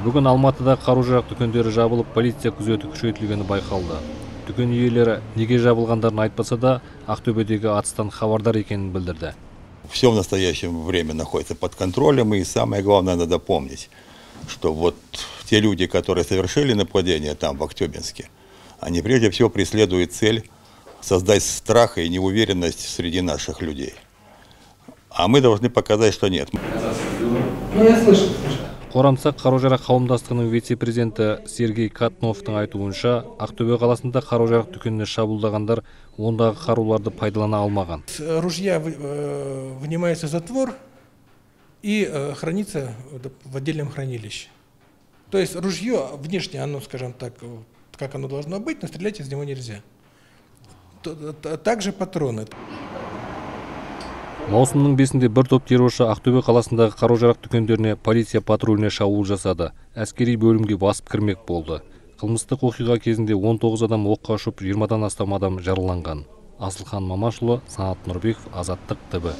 Бүгін Алматыда қару-жарақ дүкендері жабылып, полиция күзеті күшейтілгені байқалды. Дүкен иелері неге жабылғандарын айтпаса да, Ақтөбедегі атыстан хабардар екенін білдірді. Все в настоящее время находится под контролем, и самое главное, надо помнить, что вот те люди, которые совершили нападение там, в Актёбинске, они прежде всего преследуют цель создать страх и неуверенность среди наших людей. А мы должны показать, что нет. Я слышу. Қорамсақ қару-жарақ қауымдастығының вице-президенті Сергей Катновтың айтуынша, Ақтөбе қаласында қару-жарақ дүкеніне шабуылдағандар ондағы қаруларды пайдалана алмаған. Ружья вынимается затвор и хранится в отдельном хранилище. То есть ружье внешне, оно, скажем так, как оно должно быть, но стрелять из него нельзя. Также патроны. Маусымның 5-інде бір топ терроршы Ақтөбе қаласындағы қару-жарақ дүкендеріне полиция патруліне шабуыл жасады. Әскери бөлімге басып кірмек болды. Қылмыстық оқиға кезінде 19 адам оққа ұшып, 20-дан астам адам жараланған. Асылхан Мамашұлы, Санат Нұрбеков, Азаттық ТВ.